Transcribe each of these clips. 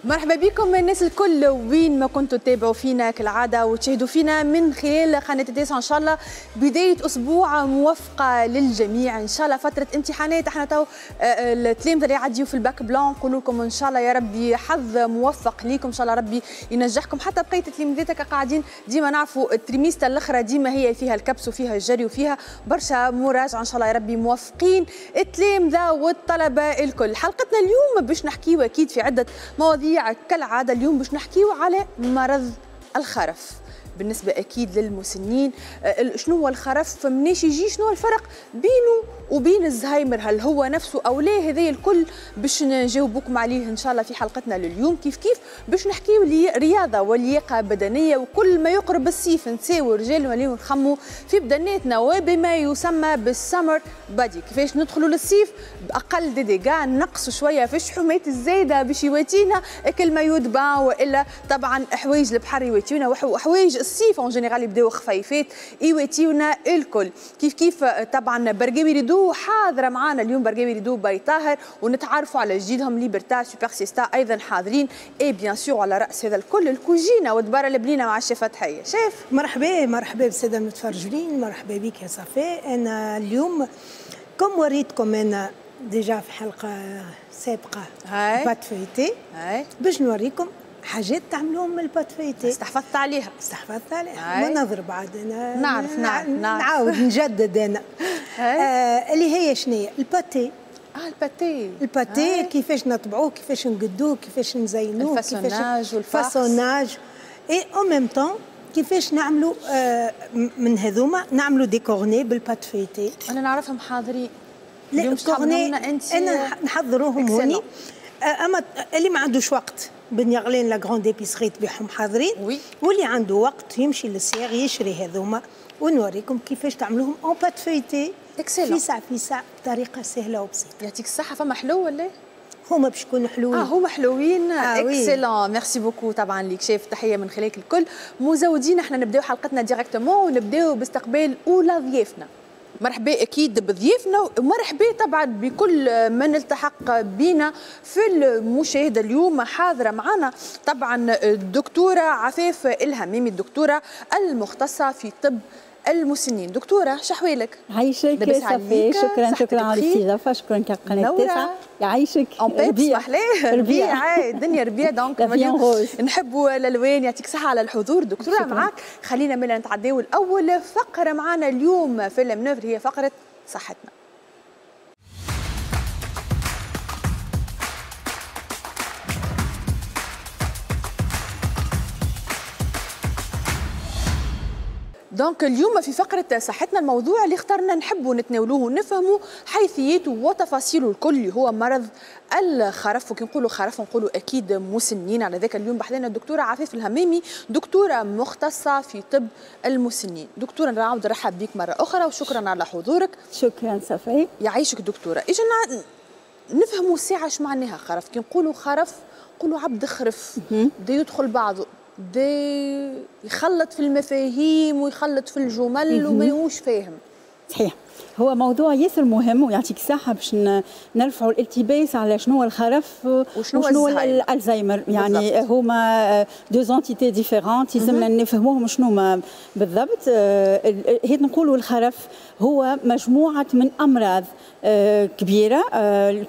مرحبا بكم الناس الكل وين ما كنتوا تتابعوا فينا كالعادة وتشاهدوا فينا من خلال قناة التاسعة. ان شاء الله بداية اسبوع موفقة للجميع، ان شاء الله فترة امتحانات احنا تو التلامذه اللي يعديوا في ال bac blanc نقول لكم ان شاء الله يا ربي حظ موفق ليكم، ان شاء الله ربي ينجحكم. حتى بقية التلاميذات قاعدين ديما نعرفوا ال trimestre الاخرى ديما هي فيها الكبس وفيها الجري وفيها برشا مراجعه، ان شاء الله يا ربي موفقين التلامذه والطلبة الكل. حلقتنا اليوم باش نحكيو اكيد في عده مواضيع كالعادة. اليوم باش نحكيو على مرض الخرف بالنسبة أكيد للمسنين. شنو هو الخرف، مناش يجي، شنو الفرق بينه وبين الزهايمر، هل هو نفسه أو لا؟ هذا الكل باش نجاوبكم عليه إن شاء الله في حلقتنا لليوم. كيف كيف باش نحكيو رياضة ولياقة بدنية، وكل ما يقرب الصيف نساو رجال ونوليو نخمو في بدناتنا وبما يسمى بال summer body، كيفاش ندخلوا للصيف بأقل des dégâts، نقصوا شوية في الشحومات الزايدة باش يواتينا كل maillot de bain، وإلا طبعا حوايج البحر يواتيونا وحوايج الصيف en général يبداو خفيفات يواتيونا الكل. كيف كيف طبعا برقاوي ريدو حاضره معانا اليوم، برقاوي ريدو باي طاهر، ونتعرفوا على جديدهم ليبرتا سوبر سيستا ايضا حاضرين، et bien sûr على راس هذا الكل الكوجينه ودباره البنينه مع الشيف فتحيه. شيف مرحبا، مرحبا بالساده المتفرجين، مرحبا بك يا صفاء. انا اليوم comme وريتكم انا déjà في حلقة سابقه pâte feuilletée، باش نوريكم حاجات تعملوهم من ال pâte feuilletée. استحفظت عليها، استحفظت عليها ما نضرب عاد انا، نعرف نعرف نعاود نجدد انا. اللي هي شنية ال pâté. ال pâté، ال pâté كيفاش نطبعوه، كيفاش نقدوه، كيفاش نزينوه، ال façonnage وال façonnage et en même temps كيفاش نعملوا من هذوما نعملوا des cornets بال pâte feuilletée. انا نعرفهم حاضرين. لا cornets انا نحضروهم هوني، اما اللي ما عندوش وقت بن يغلين la grande épicerie تبيعهم حاضرين، واللي عنده وقت يمشي للسياغ يشري هذوما ونوريكم كيفاش تعملوهم en pâte feuilletée فيسع فيسع بطريقة سهلة وبسيطة. يعطيك الصحة. فما حلو ولا؟ هما باش يكونوا حلوين. هما حلوين. excellent، merci beaucoup طبعا ليك شيف، تحية من خلالك الكل مزودين. احنا نبداو حلقتنا directement ونبداو باستقبال اولى ضيافنا. مرحبا اكيد بضيافنا، ومرحبا طبعا بكل من التحق بنا في المشاهدة اليوم. حاضره معنا طبعا الدكتورة عفاف الهميمي، الدكتورة المختصة في طب المسنين. دكتورة شحوالك؟ عايشك صافي، شكرا شكرا على الاستضافة، شكرا كقناه التاسعة. يعيشك. ربيع ربيع الدنيا ربيع، donc نحبوا الالوان. يعطيك صحة على الحضور دكتورة. معاك خلينا ملا نتعداو الاول فقره معنا اليوم في ال manœuvre، هي فقره صحتنا. donc اليوم في فقرة صحتنا الموضوع اللي اخترنا نحبوا نتناولوه ونفهموا حيثياته وتفاصيله الكل اللي هو مرض الخرف. وكي نقولوا خرف نقولوا اكيد مسنين. على ذاك اليوم بحذانا الدكتورة عفاف الهمامي، دكتورة مختصة في طب المسنين. دكتورة نعاود نرحب بك مرة أخرى وشكرا على حضورك. شكرا صفي. يعيشك دكتورة. اجا نفهموا ساعة اش معناها خرف. كي نقولوا خرف نقولوا عبد خرف، بدا يدخل بعضه، بدا يخلط في المفاهيم ويخلط في الجمل وما هوش فاهم. صحيح، هو موضوع ياسر مهم ويعطيك الصحة باش نرفعوا الالتباس على شنو هو الخرف وشنو الالزهايمر. يعني بالضبط. هما deux entités différentes، يلزمنا نفهموهم شنو ما بالضبط. هي نقولوا الخرف هو مجموعة من أمراض كبيرة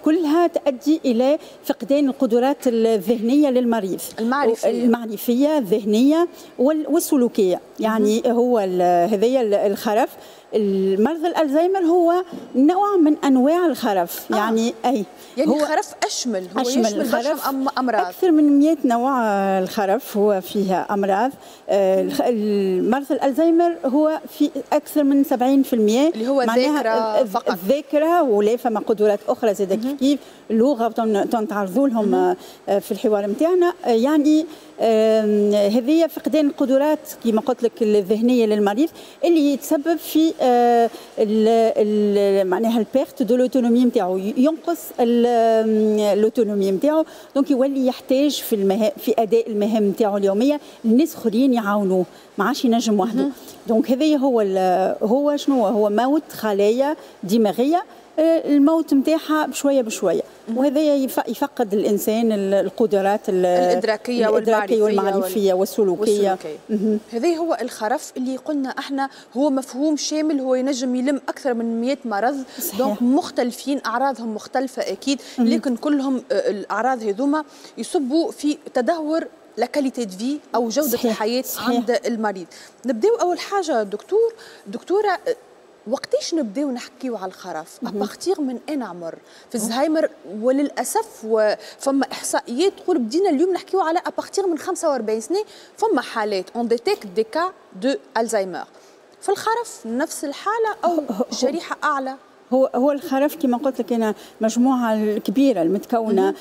كلها تؤدي إلى فقدان القدرات الذهنية للمريض، المعرفية الذهنية والسلوكية. يعني هو هذايا الخرف. المرض الالزهايمر هو نوع من انواع الخرف. يعني اي يعني هو الخرف اشمل، هو أشمل يشمل الخرف امراض اكثر من 100 نوع. الخرف هو فيها امراض. المرض الالزهايمر هو في اكثر من 70% اللي هو الذاكرة فقط، الذاكرة ولا فما قدرات اخرى زاد كيف كيف اللغة تنتعرضوا لهم في الحوار نتاعنا. يعني هذه فقدان القدرات كما قلت لك الذهنية للمريض اللي يتسبب في معناها ال perte de l'autonomie نتاعو، ينقص l'autonomie نتاعو، donc يولي يحتاج في اداء المهام نتاعو اليومية الناس اخرين يعاونوه، ما عادش ينجم وحده. donc هذا هو هو شنو هو موت خلايا دماغية الموت نتاعها بشوية بشويه، وهذا يفقد الانسان القدرات الادراكيه والمعرفيه والسلوكيه. هذا هو الخرف اللي قلنا احنا هو مفهوم شامل، هو ينجم يلم اكثر من 100 مرض. donc مختلفين، اعراضهم مختلفة اكيد، لكن كلهم الاعراض هذوما يصبوا في تدهور la qualité de vie او جوده الحياة عند المريض. نبداو اول حاجة دكتوره، وقتاش نبداو نحكيو على الخرف؟ à partir من اين عمر؟ في الزهايمر وللاسف فما احصائيات تقول بدينا اليوم نحكيو على à partir من 45 سنة فما حالات on détecte des cas de Alzheimer. في الخرف نفس الحالة او شريحة اعلى؟ هو الخرف كما قلت لك انا مجموعة الكبيرة المتكونه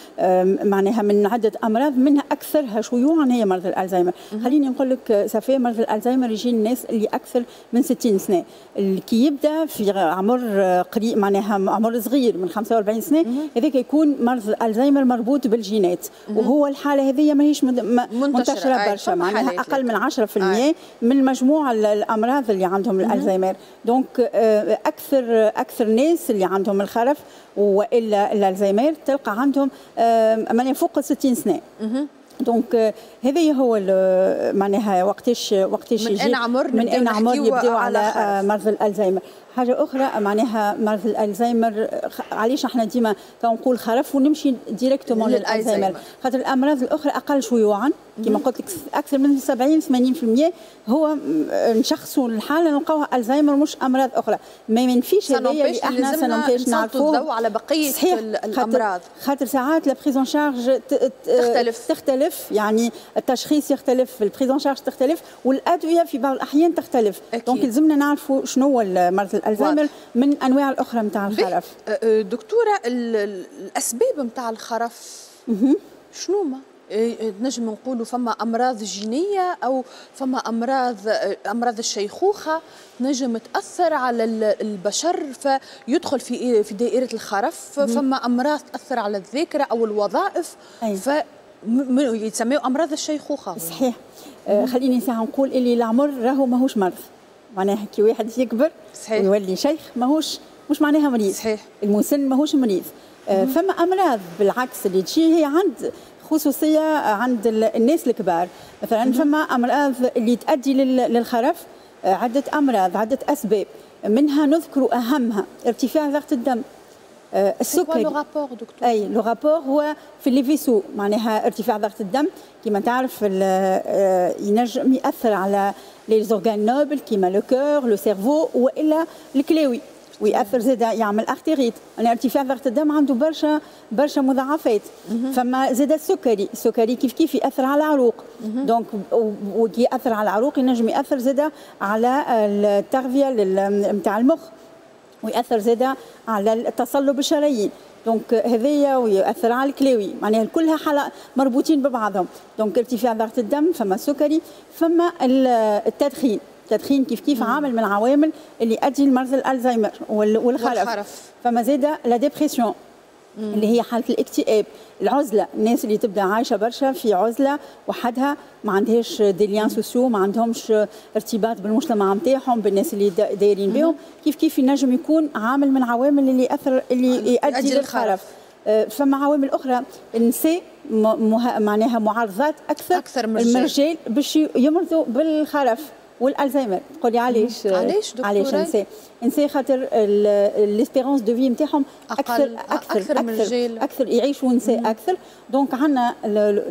معناها من عده امراض، منها اكثرها شيوعا هي مرض الالزهايمر. خليني نقول لك صافي، مرض الالزهايمر يجي الناس اللي اكثر من 60 سنه، اللي كي يبدا في عمر قريب، معناها عمر صغير من 45 سنه، هذاك يكون مرض الالزهايمر مربوط بالجينات. وهو الحالة هذه ماهيش منتشرة برشا، معناها اقل من 10% من مجموع الامراض اللي عندهم الالزهايمر. donc اكثر الناس اللي عندهم الخرف والا الالزهايمر تلقى عندهم معناها فوق 60 سنه. donc هذا هو معناها وقتاش من اين عمر من اين عمر يبداو على مرض الالزهايمر. حاجة اخرى، معناها مرض الالزهايمر علاش احنا ديما نقول خرف ونمشي directement للالزهايمر؟ خاطر الامراض الاخرى اقل شيوعا، كما قلت لك اكثر من 70 80% هو نشخصوا الحالة نلقاوها الزهايمر مش امراض اخرى. ما ينفيش هذايا اللي احنا ça n'empêche نعرفوه الضوء على بقية الامراض. خاطر ساعات la prise en charge تختلف. تختلف، يعني التشخيص يختلف، ال prise en charge تختلف، والادوية في بعض الاحيان تختلف. donc لازمنا نعرفوا شنو هو مرض الالزهايمر من انواع الاخرى نتاع الخرف. دكتوره، الاسباب نتاع الخرف شنو ما؟ نجم نقولوا فما امراض جينية او فما امراض الشيخوخة نجم تاثر على البشر فيدخل في دائرة الخرف، فما امراض تاثر على الذاكرة او الوظائف ف يتسميوا امراض الشيخوخه. صحيح. خليني ساعة نقول اللي العمر راهو ماهوش مرض، معناها كي واحد يكبر ويولي شيخ ماهوش مش معناها مريض. المسن ماهوش مريض. فما امراض بالعكس اللي تجي هي عند خصوصية عند الناس الكبار مثلا. فما امراض اللي تؤدي للخرف، عده امراض، عده اسباب، منها نذكر اهمها ارتفاع ضغط الدم، السكري. le rapport دكتور؟ اي، le rapport هو في les vaisseaux، معناها ارتفاع ضغط الدم كما تعرف ينجم ياثر على les organes nobles كيما le cœur، le cerveau والا الكلاوي، ويأثر زاد يعمل artérite. يعني ارتفاع ضغط الدم عنده برشا برشا مضاعفات. فما زاد السكري، السكري كيف كيف يأثر على العروق، donc وكي يأثر على العروق ينجم يأثر زاد على التغذية نتاع المخ، ويأثر زاد على التصلب الشرايين، donc هذايا ويأثر على الكلاوي، معناها كلها حالة مربوطين ببعضهم. donc ارتفاع ضغط الدم، فما السكري، فما التدخين. التدخين كيف كيف عامل من العوامل اللي يؤدي لمرض الالزهايمر والخرف. فما زاد la dépression اللي هي حاله الاكتئاب، العزله، الناس اللي تبدا عايشه برشا في عزله وحدها، ما عندهاش des liens sociaux، ما عندهمش ارتباط بالمجتمع نتاعهم، بالناس اللي دايرين بهم، كيف كيف ينجم يكون عامل من العوامل اللي ياثر اللي يؤدي للخرف. فما عوامل اخرى، النساء معناها معرضات اكثر اكثر من الرجال باش يمرضوا بالخرف والالزهايمر. تقولي علاش؟ علاش دكتورة؟ علاش نساء؟ نساء خاطر l'espérance de vie نتاعهم اكثر اكثر اكثر من الرجال. اكثر، يعيشوا نساء اكثر، donc عندنا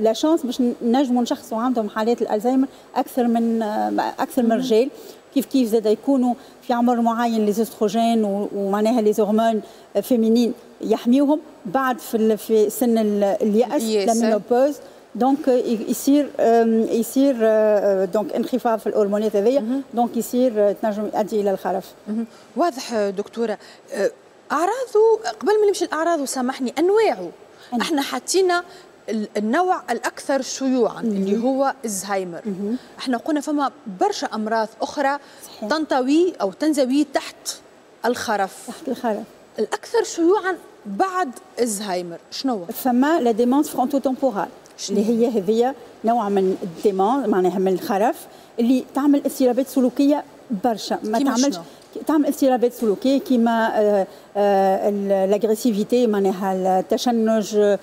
la chance باش نجموا نشخصوا عندهم حالات الالزهايمر اكثر من الرجال. كيف كيف زاد يكونوا في عمر معين les œstrogènes ومعناها les hormones féminines يحميوهم، بعد في سن الياس، la ménopause، donc يصير donc انخفاض في الهرمونات هذيا، donc يصير تنجم يؤدي الى الخرف. واضح دكتوره. اعراضه، قبل ما نمشي الاعراض وسامحني، انواعه، احنا حطينا النوع الاكثر شيوعا اللي هو الزهايمر. احنا قلنا فما برشا امراض اخرى تنطوي او تنزوي تحت الخرف. تحت الخرف. الاكثر شيوعا بعد الزهايمر شنو؟ فما la démence fronto-temporale اللي هي هذه نوع من ال démence، معناها من الخرف اللي تعمل اضطرابات سلوكية برشا ما تعملش، تعمل اضطرابات سلوكية كيما l'agressivité، معناها التشنج،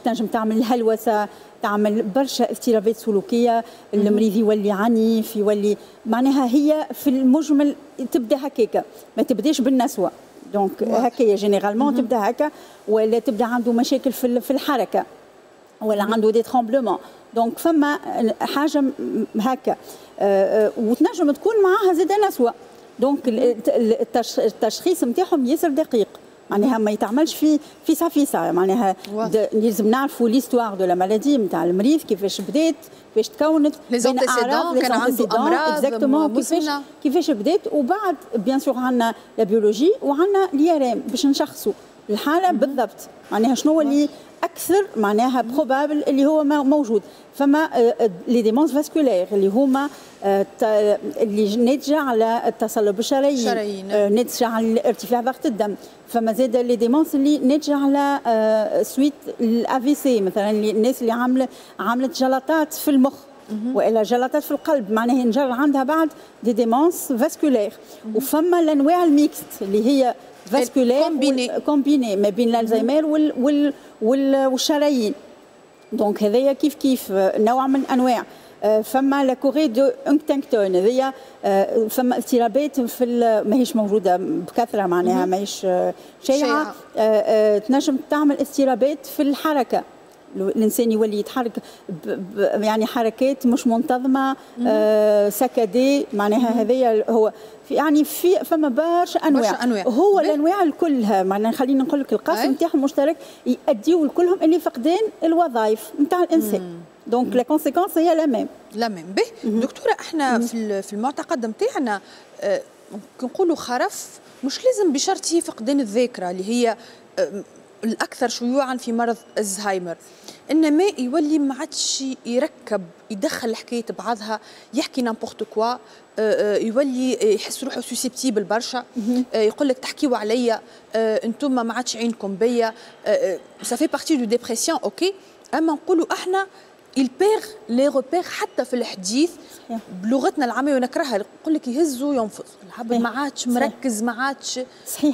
تنجم تعمل الهلوسه، تعمل برشا اضطرابات سلوكيه، المريض يولي عنيف، يولي معناها هي في المجمل تبدا هكاكا، ما تبداش بالنسوه. donc هكايا généralement تبدا هكا، ولا تبدا عنده مشاكل في الحركة ولا عنده des tremblements. donc فما حاجة هكا وتنجم تكون معاها زاد نسوه. donc التشخيص نتاعهم ياسر دقيق، معناها ما يتعملش في فيسع فيسع، معناها لازم نعرفوا l'histoire de la maladie نتاع المريض، كيفاش بدات، كيفاش تكونت، les antécédents، كان عنده امراض exactement، كيفاش بدات. وبعد bien sûr عندنا la biologie وعندنا l'IRM باش نشخصوا الحالة بالضبط، معناها شنو اللي اكثر معناها probable اللي هو موجود. فما les démences vasculaires اللي هما اللي ناتجة على التصلب الشرايين، ناتجة على ارتفاع ضغط الدم. فما زاد les démences اللي ناتجة على suite ال AVC مثلا، الناس اللي عملت جلطات في المخ والا جلطات في القلب، معناها ينجر عندها بعد des démences vasculaires. وفما الانواع ال mixtes اللي هي vasculaire combinées ما بين الالزهايمر والشرايين. donc هذايا كيف كيف نوع من انواع. فما la chorée de Huntington، هذيا فما اضطرابات في ماهيش موجودة بكثره، معناها ماهيش شائعه، تنجم تعمل اضطرابات في الحركه، الانسان يولي يتحرك يعني حركات مش منتظمه، saccadées، معناها هذايا هو في يعني في فما برشا انواع، برشا أنواع. هو الانواع كلها معناها خلينا نقول لك القاسم نتاعهم مشترك، يؤديوا كلهم اللي فقدان الوظائف نتاع الانسان. donc la conséquence هي la même. la même. به دكتوره، احنا في المعتقد نتاعنا نقولوا خرف مش لازم بشرط هي فقدان الذاكرة اللي هي الاكثر شيوعا في مرض الزهايمر، انما يولي ما عادش يركب، يدخل الحكاية بعضها، يحكي n'importe quoi، يولي يحس روحه susceptible برشا، يقول لك تحكيوا عليا انتم ما عادش عينكم بيا. ça fait partie de dépression OK، اما نقولوا احنا il perd les repères حتى في الحديث بلغتنا العامية ونكرهها، يقول لك يهز وينفض العبد، ما عادش مركز، ما عادش.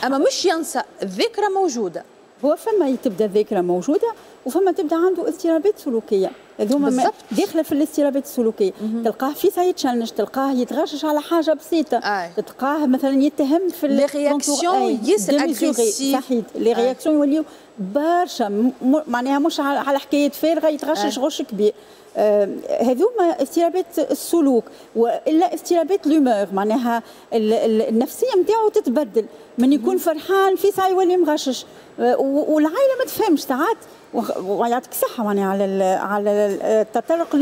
اما مش ينسى، الذاكرة موجوده. هو فما تبدا الذاكرة موجودة وفما تبدا عنده اضطرابات سلوكيه، هذوما داخله في الاضطرابات السلوكيه. تلقاه في يتشنج، تلقاه يتغشش على حاجة بسيطه، تلقاه مثلا يتهم في les réactions ياسر agressives. صحيح، les réactions يوليو برشا، معناها مش على حكاية فارغة يتغشش غش كبير. هذوما اضطرابات السلوك والا اضطرابات l'humeur، معناها النفسية نتاعو تتبدل، من يكون فرحان في ساعة يولي مغشش، والعائلة ما تفهمش ساعات. ويعطيك الصحة معناها على التطرق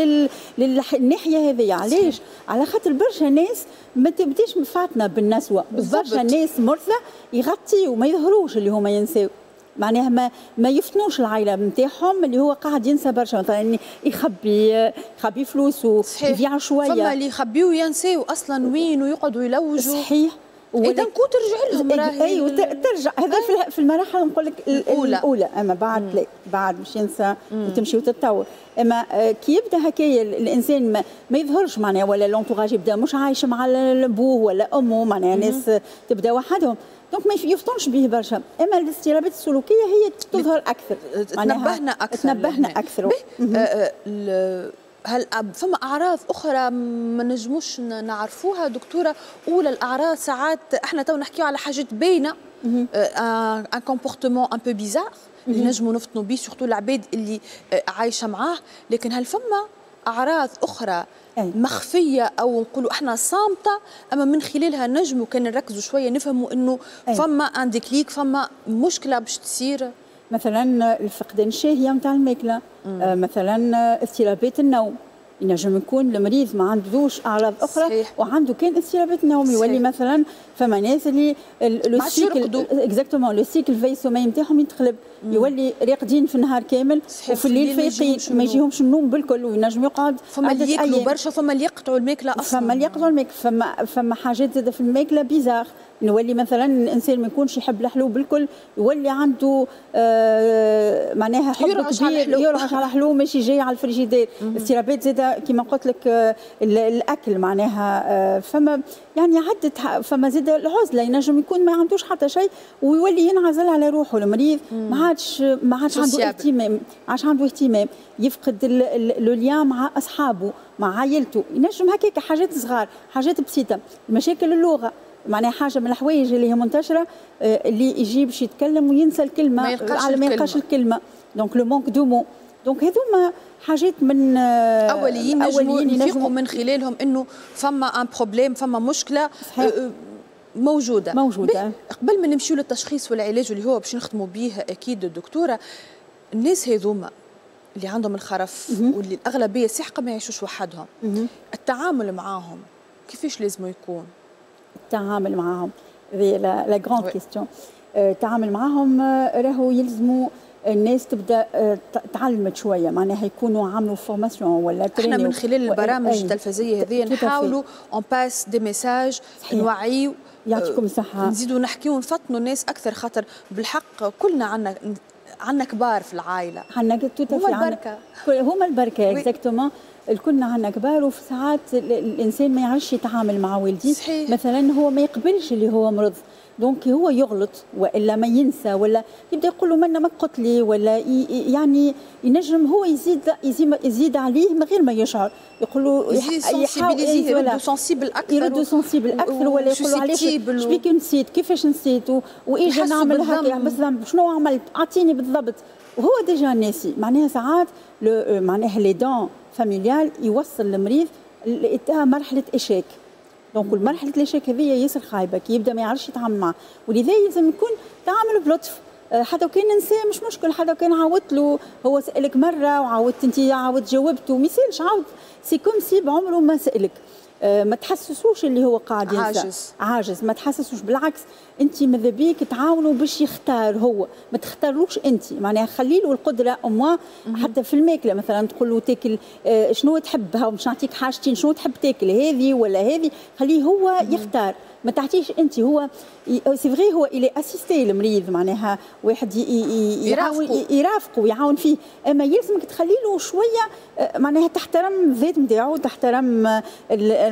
للناحيه هذه. علاش؟ على خاطر برشا ناس ما تبداش مفاطنه بالنسوه، برشا ناس مرضى يغطيوا وما يظهروش اللي هما ينساو، معناها ما يفطنوش العائلة نتاعهم اللي هو قاعد ينسى برشا، مثلا يخبي فلوسه، يبيع شويه. فما اللي يخبيو ينساو اصلا وين ويقعدوا يلوجوا. اذا كو ترجع لهم. راهي ايوه ترجع، هذا في المراحل نقول لك الاولى، الاولى. اما بعد لا، بعد مش ينسى وتمشي وتتطور. اما كي يبدا هكايا الانسان ما يظهرش معناها، ولا l'entourage يبدا مش عايش مع بوه ولا امه، معناها ناس تبدا وحدهم، donc ما يفطنش به برشا. اما الاضطرابات السلوكية هي تظهر اكثر. تنبهنا اكثر. تنبهنا اكثر. هل فما اعراض اخرى ما نجموش نعرفوها دكتوره؟ اولى الاعراض ساعات احنا تو نحكيو على حاجات باينه، un comportement un peu bizarre اللي نجموا نفطنوا به، surtout العباد اللي عايشه معاه، لكن هل فما اعراض اخرى مخفية او نقولوا احنا صامته، اما من خلالها نجموا كان نركزوا شوية نفهموا انه فما un déclic، فما مشكلة باش تصير؟ مثلا الفقدان الشهية نتاع الماكله، مثلا اضطرابات النوم، ينجم يكون المريض ما عندوش اعراض اخرى وعنده كان اضطرابات النوم. يولي مثلا فما ناس اللي le cycle، exactement، le cycle veille-sommeil نتاعهم يتقلب، يولي راقدين في النهار كامل وفي الليل فايقين، ما يجيهمش النوم بالكل وينجم يقعد. فما اللي ياكلوا برشا، فما اللي يقطعوا الماكلة اصلا. فما اللي يقطعوا الماكله، فما حاجات زاده في الماكلة bizarres. نولي مثلا الانسان ما يكونش يحب الحلو بالكل، يولي عنده معناها حب كبير، يرعش على حلو ماشي جاي على الفريجيدير. اضطرابات زاده كما قلت لك الاكل معناها، فما يعني عده، فما زاده العزلة، ينجم يكون ما عندوش حتى شيء ويولي ينعزل على روحه المريض، ما عادش عنده اهتمام، ما عادش عنده اهتمام، يفقد le lien مع اصحابه، مع عائلته، ينجم هكاك حاجات صغار، حاجات بسيطه. مشاكل اللغة معناها حاجة من الحوايج اللي هي منتشره، اللي يجي باش يتكلم وينسى الكلمه، على ما يلقاش الكلمه، donc le manque de mots. donc هذوما حاجات من اوليين نجموا نفيقوا من خلالهم انه فما un problème، فما مشكلة صحيح. موجوده. موجوده. قبل ما نمشيو للتشخيص والعلاج اللي هو باش نختموا به اكيد الدكتوره، الناس هذوما اللي عندهم الخرف واللي الاغلبية الساحقة ما يعيشوش وحدهم، التعامل معاهم كيفاش لازم يكون؟ التعامل معاهم هذه la grande question. التعامل معاهم راهو يلزموا الناس تبدا تعلمت شويه، معناها يكونوا عملوا formation ولا احنا من خلال البرامج التلفزيه هذه نحاولوا on passe des messages، نوعيو. يعطيكم الصحه. نزيدوا نحكيو ونفطنوا الناس اكثر، خاطر بالحق كلنا عندنا كبار في العائله. عندنا. هما البركه. هما البركه، exactement. الكلنا عندنا كبار، وفي ساعات الانسان ما يعرفش يتعامل مع والديه. مثلا هو ما يقبلش اللي هو مرض، donc هو يغلط والا ما ينسى ولا يبدا يقول له منا ما قلت لي، ولا يعني ينجم هو يزيد عليه من غير ما يشعر، يقول له يردوا sensible اكثر. يردوا sensible اكثر، ولا يقول له علاش شبيك نسيت، كيفاش نسيت، واجا نعمل هكا بالذنب، شنو عملت، اعطيني بالضبط، وهو déjà ناسي. معناها ساعات معناها l'aidant familial يوصل المريض مرحلة échec. donc مرحلة l'échec هذه ياسر خايبة كي يبدا ما يعرفش يتعامل معه، ولذا لازم يكون تعامل بلطف، حتى وكان نسى مش مشكل، حتى وكان عاودت له، هو سالك مرة وعاودت انت، عاودت جاوبته، ما يسالش، عاود، c'est comme si بعمره ما سالك. ما تحسسوش اللي هو قاعد ينسى، عاجز. عاجز ما تحسسوش، بالعكس انت ماذا بيك تعاونوا باش يختار هو، ما تختاروش انت، معناها خلي له القدرة au moins. حتى في الماكلة مثلا تقول له تاكل شنو تحبها، ومش نعطيك حاجتين، شنو تحب تاكل، هذه ولا هذه، خليه هو يختار، ما تعطيش انت. هو c'est vrai هو il est assisté المريض، معناها واحد يرافقه ويعاون فيه، اما يلزمك تخلي له شوية معناها تحترم الذات نتاعو، تحترم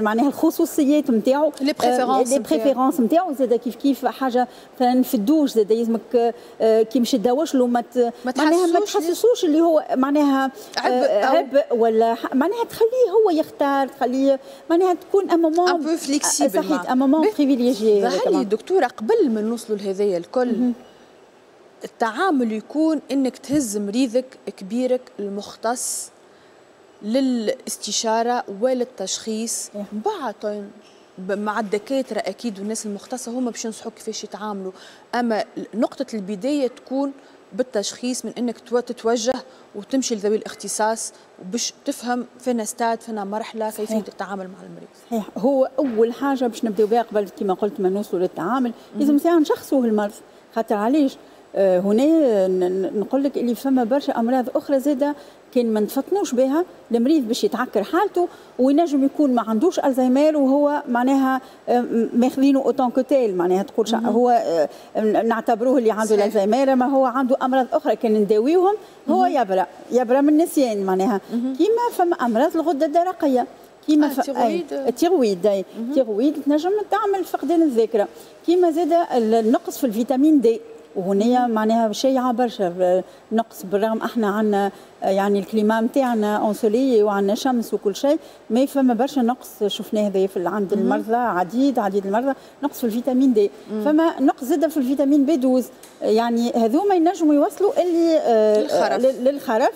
معناها الخصوصيات نتاعو. les préférences. les préférences نتاعو. زاد كيف كيف حاجة مثلا في الدوش زاد يلزمك كي مش تدوش له ما معناها ما تحسسوش اللي هو معناها عبء، عبء ولا معناها تخليه هو يختار، تخليه معناها تكون un moment un peu flexible. صحيح، un moment privilégié. ظهر دكتوره، قبل ما نوصلوا لهذايا الكل، التعامل يكون انك تهز مريضك، كبيرك، المختص للاستشاره وللتشخيص، بعد مع الدكاترة اكيد والناس المختصة هما باش ينصحوك كيفاش يتعاملوا، اما نقطة البداية تكون بالتشخيص، من انك تتوجه وتمشي لذوي الاختصاص باش تفهم فين ستاد، فين مرحله، كيفية التعامل مع المريض. صحيح، هو اول حاجة باش نبداو بها قبل كما قلت ما نوصلوا للتعامل، لازم ساعة نشخصوه المرض، خاطر علاش هنا نقول لك اللي فما برشا امراض اخرى زاده كان ما نفطنوش بها المريض باش يتعكر حالته، وينجم يكون ما عندوش الزهايمر وهو معناها ماخذينه en tant que tel، معناها تقول هو نعتبروه اللي عنده الزهايمر، ما هو عنده امراض اخرى كان نداويهم هو يبرأ، يبرأ من النسيان. معناها كيما فما امراض الغدة الدرقيه، كيما ال thyroïde، ال thyroïde تنجم تعمل فقدان الذاكره، كيما زاد النقص في ال vitamine D، وهنا معناها شائعة برشا نقص، بالرغم احنا عندنا يعني ال climat نتاعنا ensoleillé وعندنا شمس وكل شيء، mais فما برشا نقص شفناه هذا في عند المرضى، عديد عديد المرضى نقص في ال vitamine D، فما نقص زاد في ال vitamine B 12، يعني هذوما ينجموا يوصلوا اللي للخرف. للخرف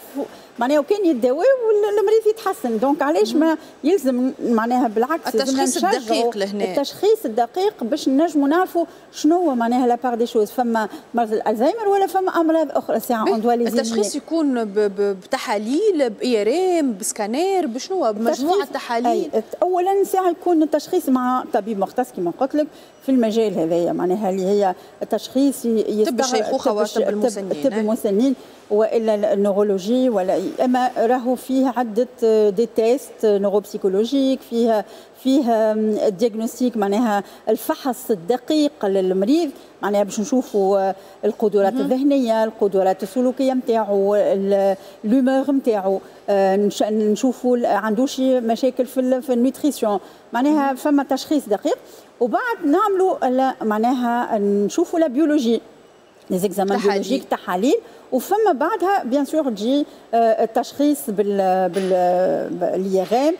معناها، وكان يداوي والمريض يتحسن. donc علاش ما يلزم معناها بالعكس التشخيص الدقيق لهنا. التشخيص الدقيق باش نجموا نعرفوا شنو هو معناها la part des choses، فما مرض الالزهايمر ولا فما امراض اخرى ساعة on doit التشخيص يكون بتحاليل، ب IRM، ب scanner، بشنو، بمجموعه تحاليل؟ اولا ساعة يكون التشخيص مع طبيب مختص كما قلت لك في المجال هذايا، معناها اللي هي التشخيص طب الشيخوخة وطب المسنين. طب المسنين. والا ال neurologie ولا، اما راهو فيه عده des tests neuropsychologiques، فيه diagnostic، معناها الفحص الدقيق للمريض، معناها باش نشوفوا القدرات الذهنيه، القدرات السلوكية نتاعو، l'humeur نتاعو، نشوفوا عندوش مشاكل في ال nutrition، معناها فما تشخيص دقيق. وبعد نعملوا معناها نشوفوا la biologie، les examens biologiques، تحاليل، وفما بعدها bien sûr تجي التشخيص بال IRM.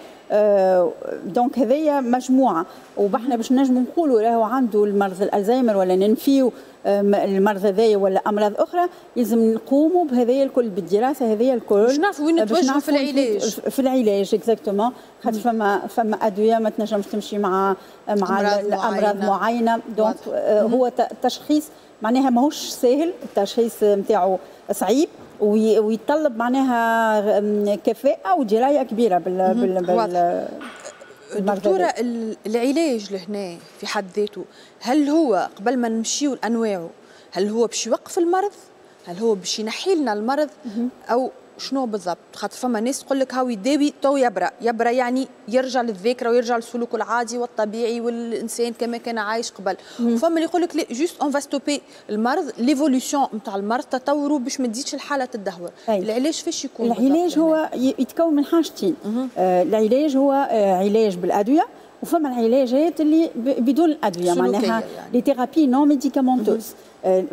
donc هذيا مجموعه، وبحنا باش نجموا نقولوا راهو عنده المرض الالزهايمر ولا ننفيو المرض هذايا ولا امراض اخرى، لازم نقوموا بهذايا الكل، بالدراسة هذيا الكل، باش نعرفوا وين نتوجهوا في العلاج. في العلاج exactement، خاطر فما ادوية ما تنجمش تمشي مع الامراض معينه. donc هو تشخيص معناها ماهوش ساهل، التشخيص نتاعو صعيب ويتطلب معناها كفاءة ودراية كبيرة بال دكتورة، العلاج لهنا في حد ذاته، هل هو قبل ما نمشيو لأنواعه، هل هو باش يوقف المرض؟ هل هو باش ينحي لنا المرض؟ أو شنو بالضبط؟ خاطر فما ناس تقول لك هاو يداوي تو يبرأ، يبرأ يعني يرجع للذاكرة ويرجع لسلوكه العادي والطبيعي والانسان كما كان عايش قبل، وفما اللي يقول لك لا، juste on va stopper المرض، l'évolution نتاع المرض، تطوره، باش ما تزيدش الحالة تدهور. العلاج فاش يكون؟ العلاج هو يتكون من حاجتين. العلاج هو علاج بالادويه، وفما العلاجات اللي بدون الادويه، معناها les thérapies non médicamenteuses.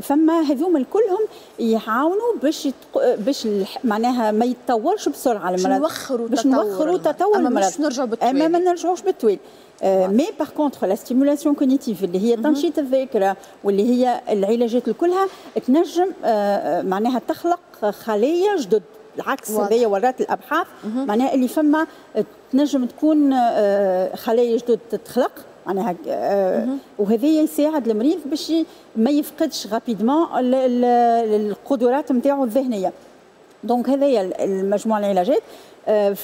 فما هذوما كلهم يعاونوا باش معناها ما يتطورش بسرعة المرض، باش نوخروا باش نوخروا تطور المرض، باش نرجعوا بالتوالي. اما ما نرجعوش بالتوالي. mais par contre la stimulation cognitive اللي هي تنشيط الذاكرة واللي هي العلاجات كلها تنجم معناها تخلق خلايا جدد. العكس، هذايا ورات الابحاث، معناها اللي فما تنجم تكون خلايا جدد تتخلق معناها، وهذا يساعد المريض باش ما يفقدش rapidement القدرات نتاعو الذهنيه. donc هذايا المجموعة العلاجات.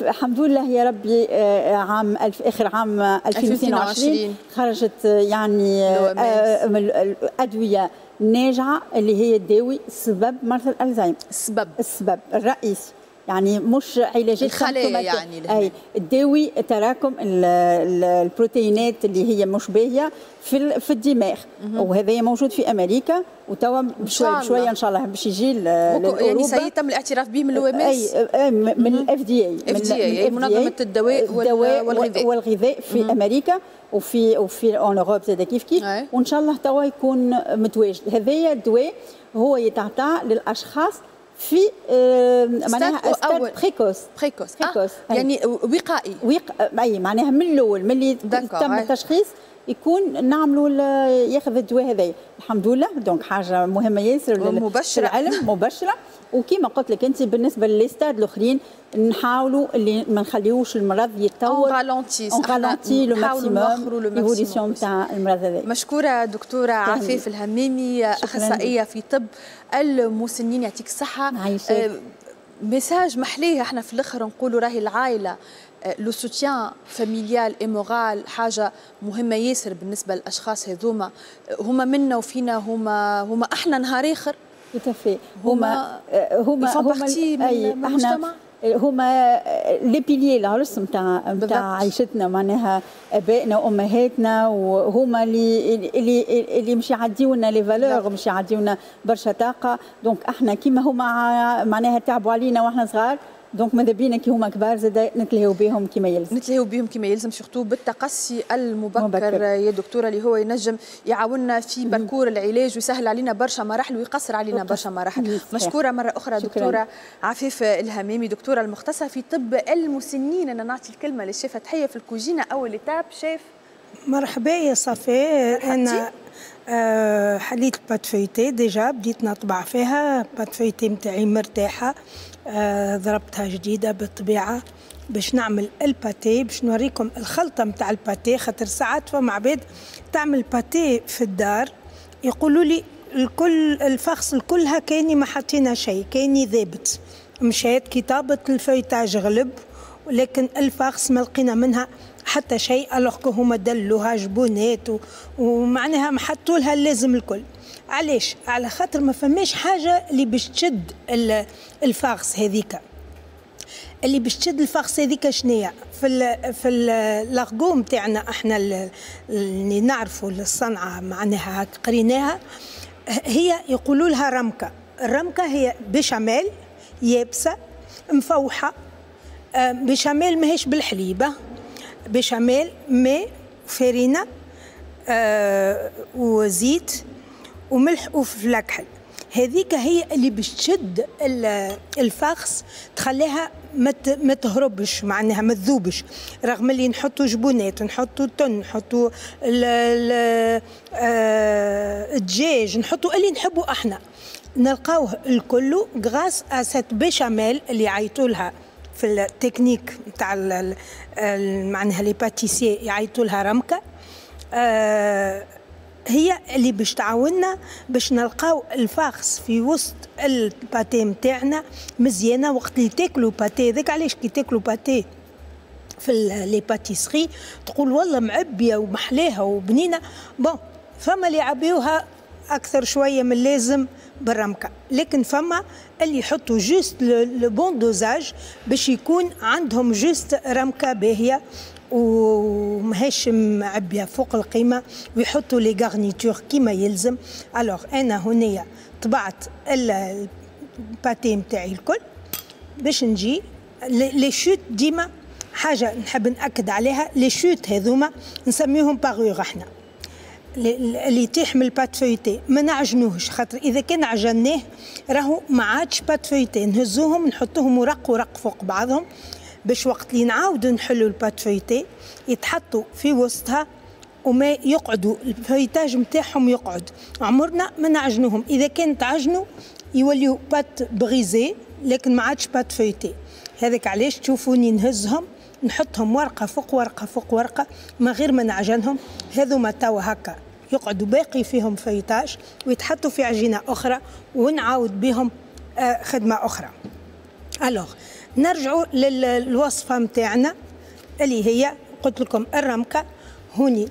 الحمد لله يا ربي، عام الف اخر عام 2022 خرجت يعني الادوية الناجعه اللي هي تداوي سبب مرض الالزهايمر. السبب. السبب الرئيسي، يعني مش علاجات الخلايا يعني. اي، تداوي تراكم البروتينات اللي هي مش باهيه في الدماغ، وهذا موجود في امريكا، وتوا بشوية بشوية ان شاء الله باش يجي. يعني سيتم الاعتراف به من l'OMS؟ اي، من ال FDA. FDA، منظمة الدواء والغذاء. والغذاء في امريكا وفي en Europe زاد كيف كيف، وان شاء الله توا يكون متواجد. هذايا الدواء هو يتعطى للاشخاص في معناها stade précoce. précoce، يعني وقائي. اي، معناها من الاول، من اللي تم التشخيص يكون نعملوا ياخذ الدواء هذايا. الحمد لله، donc حاجة مهمة ياسر. مبشره. العلم مبشره. وكما قلت لك انت، بالنسبة ل les stades الاخرين نحاولوا اللي ما نخليوش المرض يتطور. on ralentit. on ralentit le maximum l'évolution تاع المرض هذا. مشكورة دكتورة عفاف الهمامي، اخصائية في طب المسنين، يعطيك الصحه. message محليه، احنا في الاخر نقولوا راهي العائله، le soutien familial et moral حاجة مهمة ياسر بالنسبة للاشخاص هذوما، هما منا وفينا، هما احنا نهار اخر. tout à fait، هما هما من المجتمع. هما les piliers، العرص نتاع عيشتنا، معناها ابائنا وامهاتنا، وهما اللي مش يعديونا les valeurs، مش يعديونا برشا طاقه. donc احنا كيما هما معناها تعبوا علينا واحنا صغار، donc ماذا بينا كي هما كبار زاد نتلهيو بهم كما يلزم. نتلهيو بهم كما يلزم، surtout بالتقصي المبكر مبكر. يا دكتوره، اللي هو ينجم يعاوننا في parcours العلاج ويسهل علينا برشا مراحل ويقصر علينا برشا مراحل. مشكورة مرة اخرى. شكرا. دكتورة عفيف الهمامي، دكتورة المختصة في طب المسنين. انا نعطي الكلمة للشيف تحية في الكوجينه، اول étape chef. مرحبا يا صفاء. انا حليت ال pâte feuilletée، déjà بديت نطبع فيها. pâte feuilletée نتاعي مرتاحه، ضربتها جديدة بالطبيعة باش نعمل ال pâté. باش نوريكم الخلطة نتاع ال pâté، خاطر ساعات فما عباد تعمل pâté في الدار يقولوا لي الكل ال farce الكلها كاني ما حطينا شيء، كاني ذابت مشات كي طابت، ال feuilletage غلب. ولكن ال farce ما لقينا منها حتى شيء، alors que هما دلوها جبونات ومعناها حطوا لها اللازم الكل. علاش؟ على خاطر ما فماش حاجة اللي باش تشد ال farce هذيك. اللي باش تشد ال farce هذيك شنيا؟ في l'argot نتاعنا احنا اللي نعرفوا الصنعة معناها قريناها، هي يقولوا لها رمكه. الرمكه هي بشاميل يابسة مفوحه، بشاميل ماهيش بالحليبه، بشاميل ماء فرينه وزيت وملح وفلفل اكحل. هذيك هي اللي باش تشد ال farce، تخليها ما تهربش، معناها ما تذوبش، رغم اللي نحطوا جبونات، نحطوا تن، نحطوا الدجاج، نحطوا اللي نحبوا احنا، نلقاوه الكل grâce à cette béchamel اللي يعيطوا لها في التكنيك نتاع معناها les pâtissiers يعيطوا لها رمكه. هي اللي باش تعاوننا باش نلقاو ال farce في وسط ال pâté نتاعنا مزيانه وقت اللي تاكلوا pâté. هذاك علاش كي تاكلوا pâté في les pâtisseries تقول والله معبيه ومحلاها وبنينه. bon فما اللي يعبيوها اكثر شوية من اللازم بالرمكه، لكن فما اللي يحطوا juste le bon dosage باش يكون عندهم juste رمكه باهيه وماهيش معبيه فوق القيمه، ويحطوا les garnitures كيما يلزم. alors انا هنايا طبعت ال pâté نتاعي الكل باش نجي les chutes. ديما حاجة نحب ناكد عليها، les chutes هذوما نسميهم parures احنا، اللي يطيح من ال pâte feuilletée ما نعجنوهش، خاطر اذا كان عجناه راهو ما عادش pâte feuilletée. نهزوهم نحطوهم ورق ورق فوق بعضهم باش وقت اللي نعاودوا نحلوا ال pâte feuilletée يتحطوا في وسطها وما يقعدوا ال feuilletage نتاعهم يقعد. عمرنا ما نعجنوهم، اذا كان تعجنوا يوليو pâte brisée لكن ما عادش pâte feuilletée. هذاك علاش تشوفوني نهزهم نحطهم ورقة فوق ورقة فوق ورقة من غير ما نعجنهم. هذوما توا هكا يقعدوا باقي فيهم feuilletage ويتحطوا في عجينه اخرى ونعاود بهم خدمة اخرى. alors نرجعوا للوصفه نتاعنا اللي هي قلت لكم الرمكه. هوني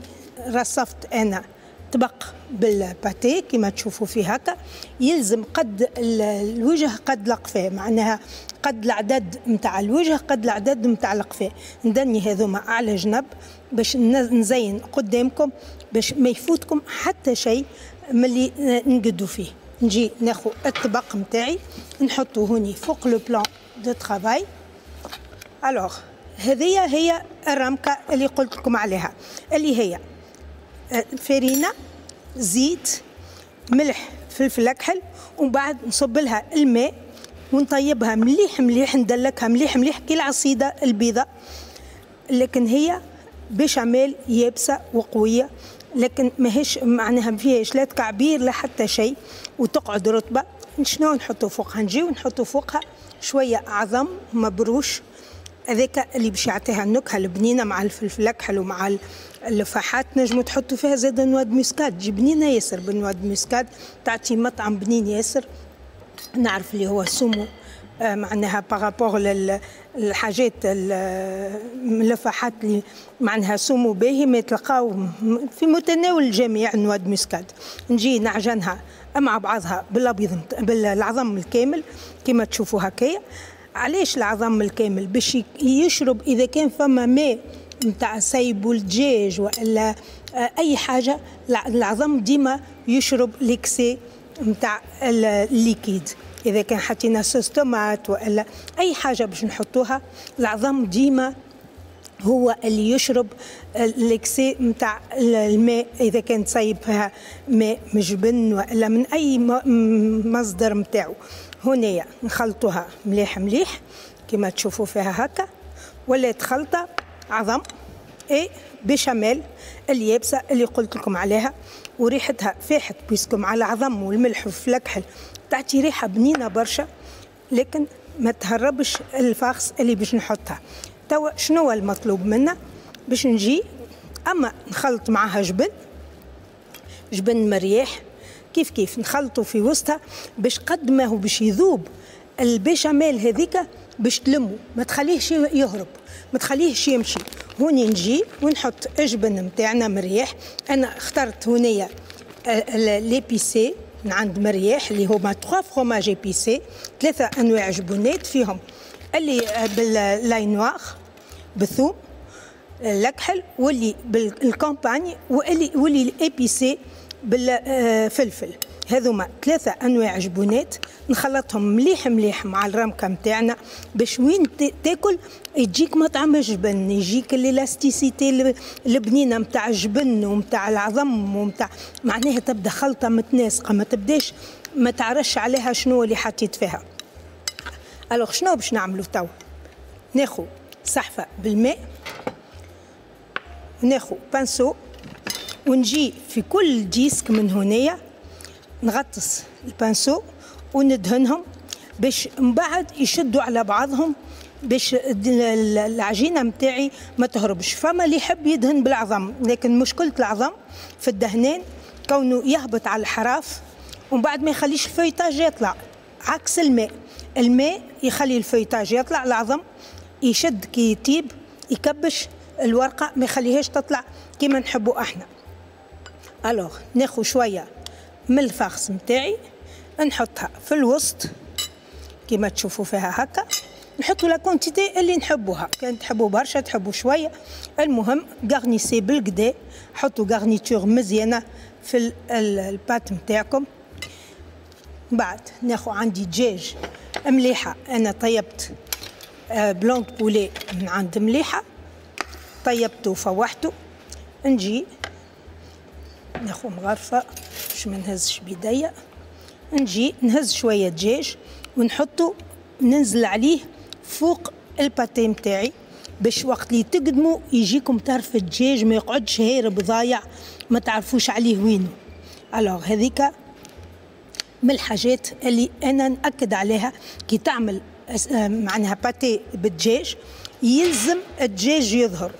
رصفت انا طبق بال pâté كما تشوفوا فيه هكا، يلزم قد الوجه قد القفاه، معناها قد العدد نتاع الوجه قد العدد نتاع القفاه. ندني هذوما على جنب باش نزين قدامكم باش ما يفوتكم حتى شيء من اللي نقدو فيه. نجي ناخذ الطبق نتاعي نحطه هوني فوق le plan de travail. alors هذه هي الرمكه اللي قلت لكم عليها، اللي هي فرينه، زيت، ملح، فلفل اكحل، ومن بعد نصب لها الماء ونطيبها مليح مليح، ندلكها مليح مليح كي العصيده البيضاء، لكن هي بشاميل يابسة وقويه، لكن ماهيش معناها ما فيهاش لا تكعبير لا حتى شيء، وتقعد رطبه. شنو نحطوا فوقها؟ نجيو نحطوا فوقها شوية عظم مبروش، هذاك اللي باش يعطيها النكهة البنينه مع الفلفل الاكحل ومع اللفاحات. نجموا تحطوا فيها زاد noix de muscade، تجي بنينه ياسر بال noix de muscade، تعطي مطعم بنين ياسر. نعرف اللي هو سمو معناها par rapport للحاجات اللفاحات اللي معناها سمو باهي، ما تلقاو في متناول الجميع noix de muscade. نجي نعجنها مع بعضها بالابيض بالعظم الكامل كما تشوفوا هكايا. علاش العظم الكامل؟ باش يشرب اذا كان فما ماء نتاع سيب والدجاج والا اي حاجة، العظم ديما يشرب l'excès نتاع ال liquide. اذا كان حطينا sauce tomate والا اي حاجة باش نحطوها، العظم ديما هو اللي يشرب l'excès نتاع الماء اذا كان تصيب فيها ماء مجبن والا من اي مصدر نتاعو. هنايا نخلطوها مليح مليح كما تشوفوا فيها هكا، ولات خلطه عظم et béchamel اليابسة اللي قلت لكم عليها، وريحتها فاحت puisque مع العظم والملح والفلكحل تعطي ريحه بنينه برشا، لكن ما تهربش ال farce اللي باش نحطها. توا شنو المطلوب منا؟ باش نجي اما نخلط معاها جبن، جبن مرياح كيف كيف نخلطه في وسطها باش قد ما هو باش يذوب البيشاميل هذيك باش تلمو، ما تخليهش يهرب، ما تخليهش يمشي. هوني نجي ونحط الجبن نتاعنا مريح. انا اخترت هنايا l'épicé من عند مريح اللي هما 3 fromages épicés، 3 انواع جبنات فيهم اللي بال l'ail noir بالثوم الكحل، واللي بال campagne، واللي épicé بالفلفل. هذوما 3 انواع جبونات نخلطهم مليح مليح مع الرمكه نتاعنا باش وين تاكل يجيك مطعم الجبن، يجيك l'élasticité البنينه نتاع الجبن ونتاع العظم ونتاع، معناها تبدا خلطه متناسقه، ما تبداش ما تعرفش عليها شنو اللي حطيت فيها. alors شنو باش نعملو تو؟ ناخو صحفه بالماء، وناخو pinceau، ونجي في كل disque من هنايا نغطس ال pinceau وندهنهم باش من بعد يشدوا على بعضهم باش العجينة متاعي ما تهربش. فما اللي يحب يدهن بالعظم، لكن مشكلة العظم في الدهنان كونه يهبط على الحراف ومن بعد ما يخليش ال feuilletage يطلع، عكس الماء. الماء يخلي ال feuilletage يطلع، العظم يشد كي يطيب يكبش الورقة ما يخليهاش تطلع كيما نحبوا احنا. alors ناخذ شوية من ال farce نتاعي نحطها في الوسط كيما تشوفوا فيها هكا، نحطوا la quantité اللي نحبوها، كان تحبوا برشا تحبوا شوية، المهم garnissez بالقدا، حطوا garniture مزيانه في ال pâte نتاعكم. بعد ناخذ عندي دجاج مليحة، انا طيبت blanc poulet من عند مليحة، طيبته وفوحته. نجي ناخذ مغرفه باش ما نهزش بيديا، نجي نهز شوية دجاج ونحطه، ننزل عليه فوق ال pâté نتاعي باش وقت اللي تقدموا يجيكم طرف الدجاج ما يقعدش هارب ضايع ما تعرفوش عليه وينه. alors هذيك من الحاجات اللي انا ناكد عليها كي تعمل معناها pâté بالدجاج، يلزم الدجاج يظهر،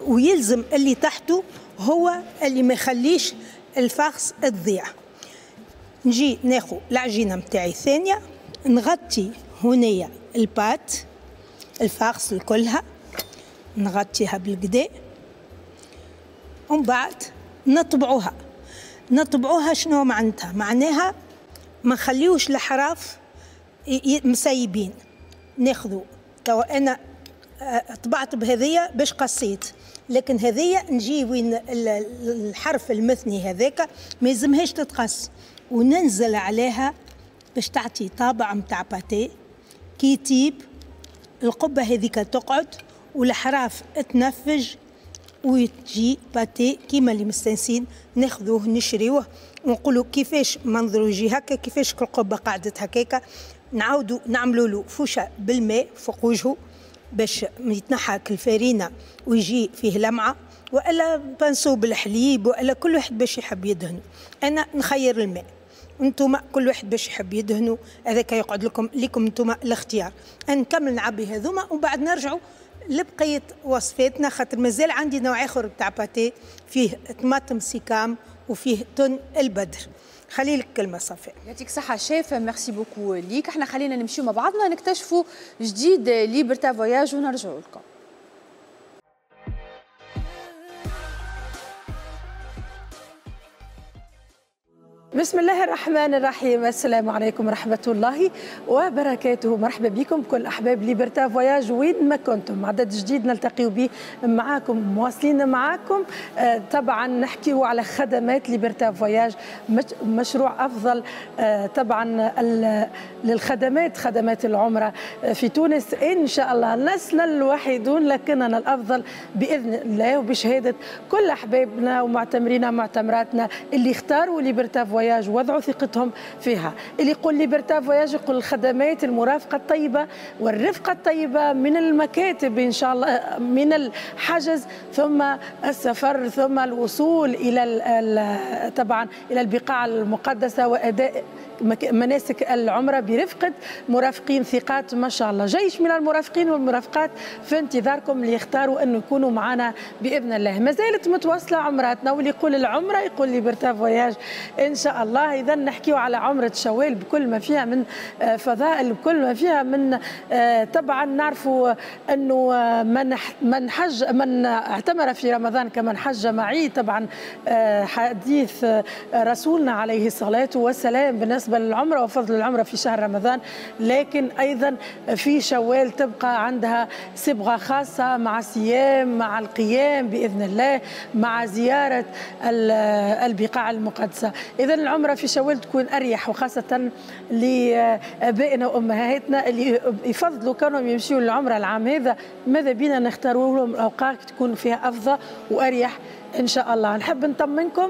ويلزم اللي تحته هو اللي ما يخليش ال farce تضيع. نجي ناخذ العجينة نتاعي الثانية، نغطي هنايا ال pâte ال farce كلها، نغطيها بالقدا، ومن بعد نطبعوها. نطبعوها شنو معناتها؟ معناها ما نخليوش الحراف مسيبين. ناخذوا توا انا طبعت بهذية باش قصيت، لكن هذية نجي وين الحرف المثني هذاك ما يلزمهاش تتقص، وننزل عليها باش تعطي طابع متاع pâté. كي تيب القبة هذيك تقعد والحراف تنفج وتجي pâté كيما اللي مستانسين ناخذوه نشريوه ونقولوا كيفاش منظرو يجي هكا، كيفاش القبة قعدت هكاكا. نعاودوا نعملوا له فوشه بالماء فوق وجهه باش يتنحى الفارينه ويجي فيه لمعة، والا pinceau بالحليب، والا كل واحد باش يحب يدهنو. انا نخير الماء، انتم كل واحد باش يحب يدهنو، هذاك يقعد لكم لكم انتم الاختيار. نكمل نعبي هذوما ومن بعد نرجعوا لبقية وصفاتنا، خاطر مازال عندي نوع اخر تاع pâté فيه طماطم سيكام وفيه تن البدر. خلي لك كلمة صفاء. يعطيك صحة chef، merci beaucoup ليك. احنا خلينا نمشيو مع بعضنا نكتشفوا جديد Liberta Voyage ونرجعوا لكم. بسم الله الرحمن الرحيم. السلام عليكم ورحمة الله وبركاته. مرحبا بكم كل أحباب Liberta Voyage وين ما كنتم. عدد جديد نلتقي به معاكم، مواصلين معاكم. طبعا نحكيو على خدمات Liberta Voyage، مشروع أفضل طبعا للخدمات، خدمات العمرة في تونس إن شاء الله. لسنا الوحيدون لكننا الأفضل بإذن الله، وبشهادة كل أحبابنا ومعتمرينا ومعتمراتنا اللي اختاروا Liberta Voyage وضعوا ثقتهم فيها. اللي يقول Liberta Voyage يقول الخدمات المرافقة الطيبة والرفقة الطيبة من المكاتب إن شاء الله، من الحجز ثم السفر ثم الوصول إلى طبعا إلى البقاع المقدسة وأداء مناسك العمرة برفقة مرافقين ثقات ما شاء الله. جيش من المرافقين والمرافقات في انتظاركم اللي يختاروا أنه يكونوا معنا بإذن الله. ما زالت متواصلة عمراتنا، واللي يقول العمرة يقول Liberta Voyage إن شاء شاء الله. اذا نحكيو على عمره شوال بكل ما فيها من فضائل، بكل ما فيها من طبعا نعرفوا انه من حج من اعتمر في رمضان كمن حج معي، طبعا حديث رسولنا عليه الصلاة والسلام بالنسبة للعمرة وفضل العمرة في شهر رمضان، لكن ايضا في شوال تبقى عندها صبغة خاصة مع الصيام، مع القيام باذن الله، مع زيارة البقاع المقدسة. اذا العمرة في شوال تكون اريح، وخاصة لابائنا وامهاتنا اللي يفضلوا كانوا يمشيوا للعمرة العام هذا، ماذا بينا نختاروا لهم الاوقات تكون فيها افضل واريح ان شاء الله. نحب نطمنكم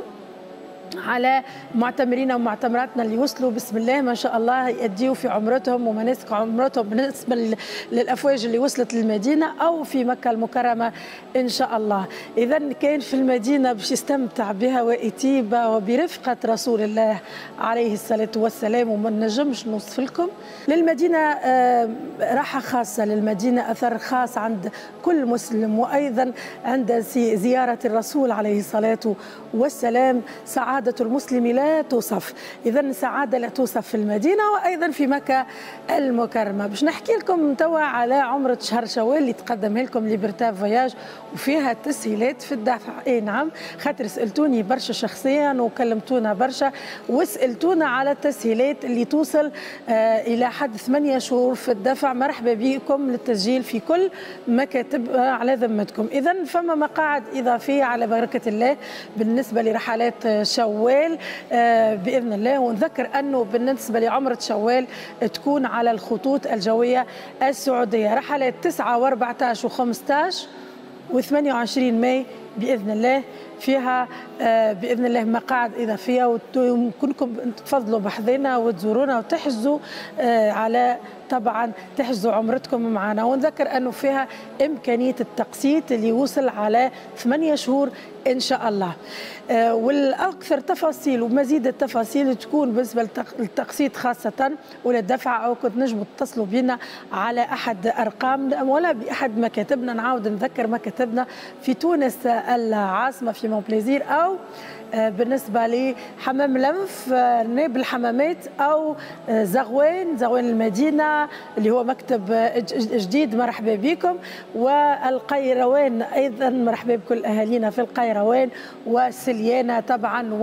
على معتمرينا ومعتمراتنا اللي وصلوا بسم الله ما شاء الله يأديوا في عمرتهم ومناسك عمرتهم بالنسبة للأفواج اللي وصلت للمدينة أو في مكة المكرمة إن شاء الله. إذا كان في المدينة باش يستمتع بها وإتيبة وبرفقة رسول الله عليه الصلاة والسلام، وما نجمش نوصف لكم. للمدينة راحة خاصة، للمدينة أثر خاص عند كل مسلم، وأيضا عند زيارة الرسول عليه الصلاة والسلام سعادة المسلم لا توصف. إذا سعادة لا توصف في المدينة وأيضا في مكة المكرمة. باش نحكي لكم توا على عمرة شهر شوال اللي تقدمها لكم Liberta Voyages وفيها تسهيلات في الدفع. اي نعم، خاطر سألتوني برشا شخصيا وكلمتونا برشا وسألتونا على التسهيلات اللي توصل إلى حد 8 شهور في الدفع. مرحبا بكم للتسجيل في كل مكاتب على ذمتكم. إذا فما مقاعد إضافية على بركة الله بالنسبة لرحلات شوال بإذن الله. ونذكر أنه بالنسبة لعمرة شوال تكون على الخطوط الجوية السعودية رحلات 9 و14 و15 و28 ماي بإذن الله، فيها بإذن الله مقاعد إضافية، ويمكنكم تفضلوا بحذنا وتزورونا وتحجزوا على طبعا تحجزوا عمرتكم معنا. ونذكر أنه فيها إمكانية التقسيط اللي يوصل على 8 شهور إن شاء الله. والأكثر تفاصيل ومزيد التفاصيل تكون بالنسبة للتقسيط خاصة ولا الدفع، أو كنت نجموا تتصلوا بنا على أحد أرقامنا ولا بأحد مكاتبنا. نعاود نذكر مكاتبنا في تونس العاصمة في مونبليزير، أو بالنسبة لحمام لنف ناب الحمامات، أو زغوان المدينة اللي هو مكتب جديد، مرحبا بكم. والقيروان أيضا مرحبا بكل أهالينا في القيروان وسليانة طبعا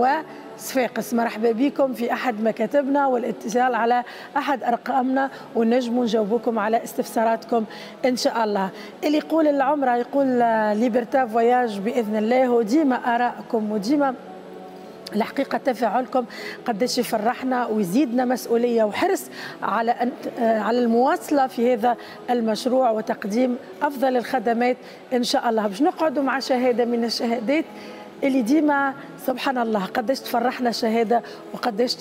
وصفاقس، مرحبا بكم في أحد مكاتبنا والاتصال على أحد أرقامنا ونجموا نجاوبكم على استفساراتكم إن شاء الله. اللي يقول العمرة يقول Liberta Voyages بإذن الله، وديما آرائكم وديما الحقيقة تفاعلكم قداش يفرحنا ويزيدنا مسؤولية وحرص على على المواصلة في هذا المشروع وتقديم أفضل الخدمات إن شاء الله. باش نقعدوا مع شهادة من الشهادات اللي ديما سبحان الله قداش تفرحنا شهادة وقداش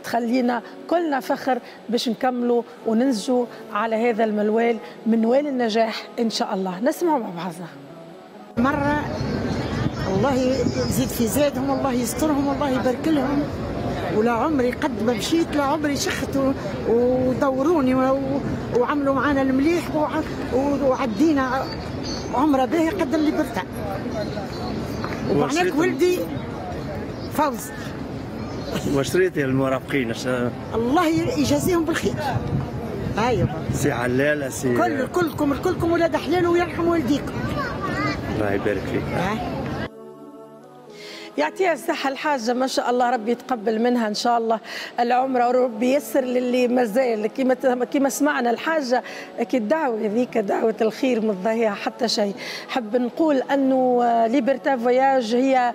تخلينا كلنا فخر باش نكملوا وننسجوا على هذا المنوال منوال النجاح إن شاء الله. نسمعوا مع بعضنا. مرة الله يزيد في زادهم، والله يسترهم، والله يبارك لهم. ولا عمري قد ما مشيت لا عمري شخت ودوروني وعملوا معانا المليح وعدينا عمره باهي قد اللي برتا. ومعناك ولدي فوز. وشريتي المرافقين الله يجازيهم بالخير. ايوه سي علالة سي كلكم كلكم ولاد حلال ويرحم والديكم. الله يبارك فيك. يعطيها الصحة الحاجة ما شاء الله، ربي يتقبل منها إن شاء الله العمرة وربي يسر للي مازال. كما سمعنا الحاجة أكيد دعوة هذيك دعوة الخير ما تضيع حتى شيء. حب نقول أنه Liberta Voyages هي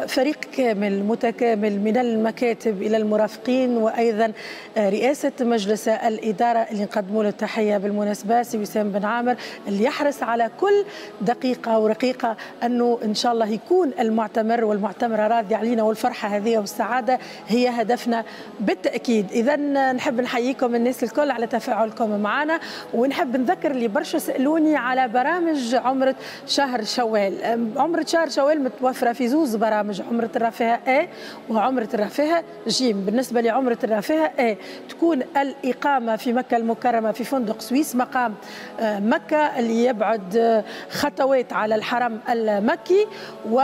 فريق كامل متكامل من المكاتب إلى المرافقين، وأيضا رئاسة مجلس الإدارة اللي نقدموا له التحية بالمناسبة سي وسام بن عامر اللي يحرص على كل دقيقة ورقيقة أنه إن شاء الله يكون المعتمر والمعتمرة راضي علينا، والفرحة هذه والسعادة هي هدفنا بالتأكيد. إذا نحب نحييكم الناس الكل على تفاعلكم معنا، ونحب نذكر اللي برشا سألوني على برامج عمرة شهر شوال. عمرة شهر شوال متوفرة في زوز برامج، عمرة الرفاهة A وعمرة الرفاهة ج. بالنسبة لعمرة الرفاهة A تكون الإقامة في مكة المكرمة في فندق سويس مقام مكة اللي يبعد خطوات على الحرم المكي، و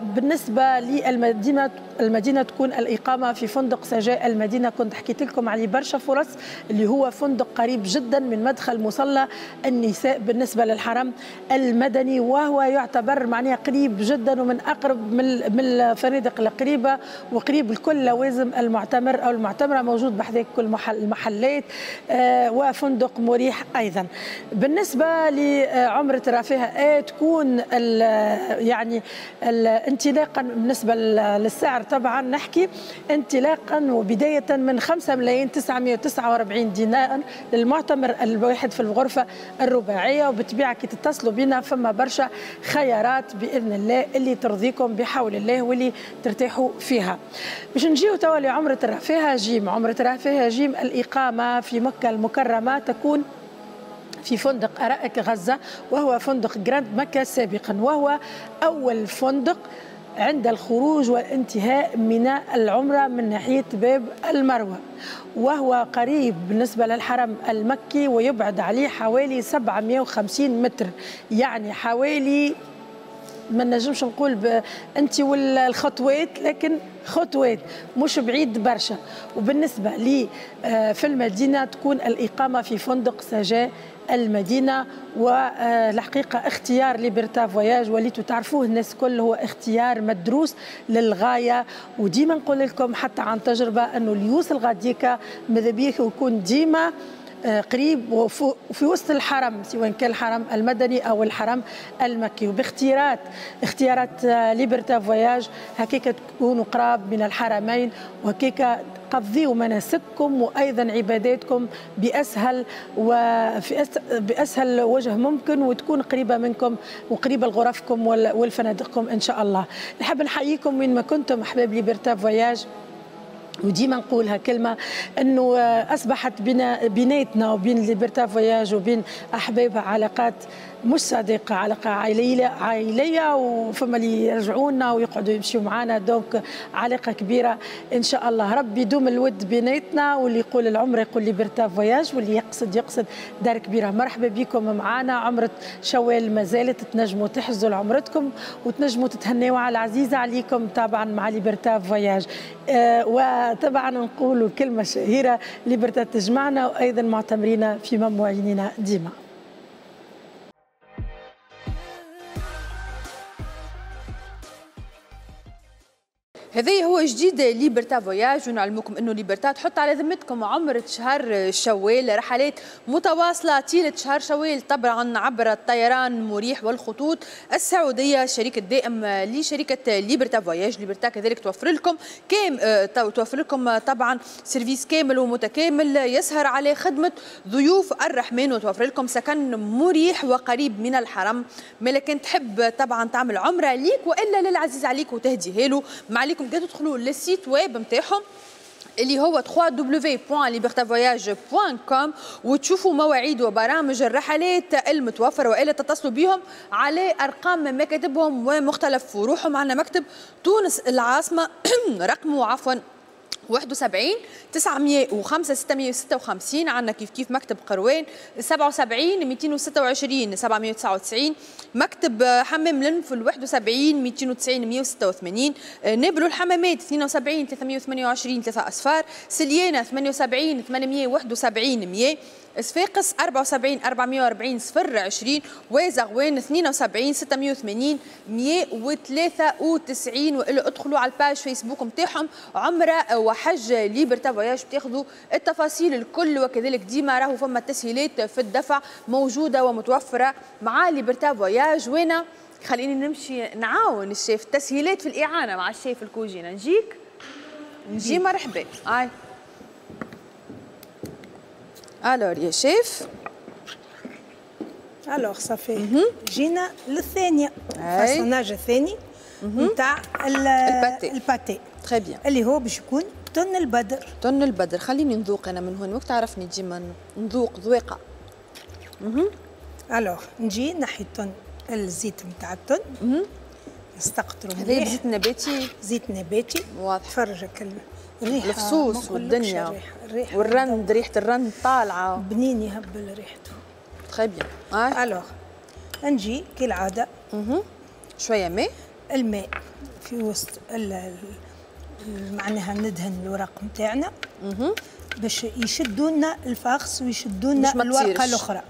وبالنسبة للمدينة، المدينة تكون الإقامة في فندق سجاء المدينة، كنت حكيت لكم عليه برشا فرص، اللي هو فندق قريب جدا من مدخل مصلى النساء بالنسبة للحرم المدني، وهو يعتبر معناها قريب جدا ومن أقرب من الفنادق القريبة، وقريب لكل لوازم المعتمر أو المعتمرة، موجود بحذاك كل المحلات، وفندق مريح أيضا. بالنسبة لعمرة الرفاهة تكون يعني انطلاقا بالنسبة للسعر، طبعا نحكي انطلاقا وبداية من 5,949,000 دينار للمعتمر الواحد في الغرفة الرباعية. وبالطبيعة كي تتصلوا بنا فما برشا خيارات بإذن الله اللي ترضيكم بحول الله واللي ترتاحوا فيها. باش نجيو توا لعمرة الرفاهة جيم. عمرة الرفاهة جيم الإقامة في مكة المكرمة تكون في فندق أرائك غزة، وهو فندق جراند مكة سابقا، وهو أول فندق عند الخروج والانتهاء من العمرة من ناحية باب المروة، وهو قريب بالنسبة للحرم المكي ويبعد عليه حوالي 750 متر، يعني حوالي ما نجمش نقول انت والخطوات، لكن خطوات مش بعيد برشا. وبالنسبة لي في المدينة تكون الإقامة في فندق سجاء المدينة، والحقيقة اختيار ليبرتا فواياج وليتوا تعرفوه الناس كل، هو اختيار مدروس للغاية. وديما نقول لكم حتى عن تجربة أنه اللي يوصل غاديكا ماذا بيه يكون ديما قريب وفي وسط الحرم، سواء كان الحرم المدني او الحرم المكي. وباختيارات اختيارات ليبرتا فواياج هكاك تكونوا قراب من الحرمين، وهكاك قضيوا مناسككم وايضا عباداتكم باسهل وفي باسهل وجه ممكن، وتكون قريبه منكم وقريبه لغرفكم والفنادقكم ان شاء الله. نحب نحييكم وين ما كنتم احباب ليبرتا فواياج، وديما نقولها كلمة انه اصبحت بيناتنا وبين ليبرتا فواياج وبين احبابها علاقات مش صديقه، علاقة عائلية، وفما اللي يرجعونا ويقعدوا يمشيوا معنا، donc علاقة كبيرة ان شاء الله. ربي يدوم الود بيناتنا، واللي يقول العمرة يقول ليبرتا فواياج، واللي يقصد دار كبيرة. مرحبا بكم معنا. عمره شوال ما زالت تنجموا تحجزوا لعمرتكم وتنجموا تتهنوا على العزيزة عليكم طبعا مع ليبرتا فواياج. وطبعا نقولوا كلمة شهيرة، ليبرتا تجمعنا، وايضا معتمرين في مموعيننا ديما. هذا هو جديد ليبرتا فواياج، ونعلمكم انه ليبرتا تحط على ذمتكم عمرة شهر شوال، رحلات متواصلة طيلة شهر شوال طبعا عبر الطيران مريح والخطوط السعودية، الشريك الدائم لشركة ليبرتا فواياج. ليبرتا كذلك توفر لكم توفر لكم طبعا service كامل ومتكامل يسهر على خدمة ضيوف الرحمن، وتوفر لكم سكن مريح وقريب من الحرم. لكن تحب طبعا تعمل عمره ليك والا للعزيز عليك وتهديها له، ما عليكم تدخلوا لل site web نتاعهم اللي هو www.libertavoyage.com وتشوفوا مواعيد وبرامج الرحلات المتوفرة، والا تتصلوا بهم على ارقام مكاتبهم ومختلف فروعهم. عندنا مكتب تونس العاصمة رقمه عفوا 71 905 656، عندنا كيف كيف مكتب قروان 77 226 799، مكتب حمام لنفل 71 290 186، نابلو الحمامات 72 328 3 أصفار، سليانة 78 871 100، صفاقس 74 440 020، وزغوان 72 680 193. والا ادخلوا على ال page فيسبوك نتاعهم عمره وحج ليبرتا فواياج تاخذوا التفاصيل الكل، وكذلك ديما راهو فما تسهيلات في الدفع موجودة ومتوفره مع ليبرتا فواياج. وانا خليني نمشي نعاون الشيف، تسهيلات في الاعانة مع الشيف الكوجينه. نجيك نجي، مرحبا. اي alors يا chef، alors ça fait جينا للثانيه، ال façonnage الثاني نتاع ال pâté très bien اللي هو باش يكون تن البدر. تن البدر، خليني نذوق انا من هون، وقت تعرفني ديما نذوق ذويقه. alors نجي نحي التن، الزيت نتاع التن نستقطرو مليح. هذا زيت نباتي، زيت نباتي واضح. تفرجك الريحة، الفصوص والدنيا الريحة والرند، ريحه الرند طالعه بنين يهبل ريحته. très bien. alors نجي كالعادة شوية ماء، الماء في وسط معناها ندهن الورق نتاعنا باش يشدوا لنا ال farce ويشدوا لنا الورقة الاخرى،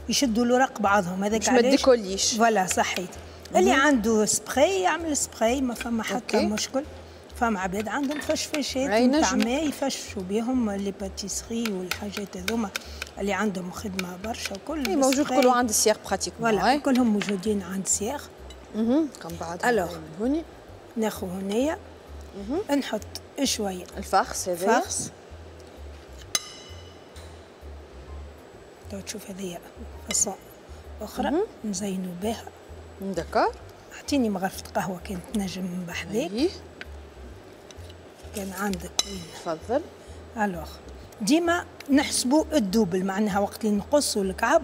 يشدوا الورق بعضهم. هذاك علاش ما تديكوليش. voilà صحيت. اللي عنده سبراي يعمل سبراي، ما فما حتى مشكل. فما عباد عندهم فشفشات نتاع ماء يفشفشوا بهم les pâtisseries والحاجات هذوما اللي عندهم خدمة برشا وكل. موجود كله عند السياغ pratiquement. voilà كلهم موجودين عند السياغ. كم بعد alors ناخذ هنايا نحط شوية ال farce هذايا. farce تو تشوف هذيا façon اخرى نزينو بها. d'accord. اعطيني مغرفه قهوة كانت تنجم بحذاك. كان عندك وين. تفضل. alors ديما نحسبوا ال double، معناها وقت اللي نقصوا الكعب